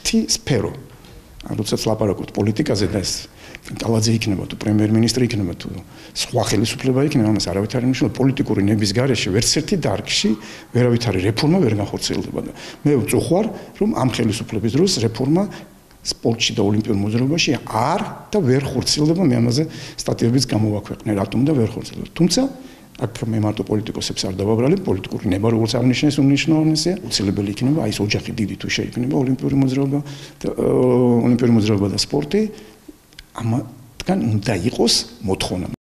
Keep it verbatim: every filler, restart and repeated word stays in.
ერთი სფერო. როდესაც ლაპარაკობთ პოლიტიკაზე და ეს კალაძე იქნება თუ პრემიერ-მინისტრი იქნება თუ სხვა ხელისუფლება იქნება, ამას არავით არ ნიშნავს. პოლიტიკური ნების გარეშე ვერც ერთი დარგში ვერავითარი რეფორმა ვერ განხორციელდება და მე ვწუხარ, რომ ამ ხელისუფლების დროს რეფორმა სპორტში და ოლიმპიურ მოძრაობაში არ და ვერ ხორციელდება. მე ამაზე სტატიებიც გამოვაქვეყნე, რატომ და ვერ ხორციელდება. თუმცა აქ მე მარტო პოლიტიკოსებს არ დავაბრალებ, პოლიტიკური ნება როგორც აღნიშნეს უნიშნავია, უცილებელი იქნება აი ეს ოჯახი დიდი თუ შეიქმნება ოლიმპიური მოძრაობა და ოლიმპიური მოძრაობა და სპორტი, ამათგან უნდა იყოს მოთხოვნა.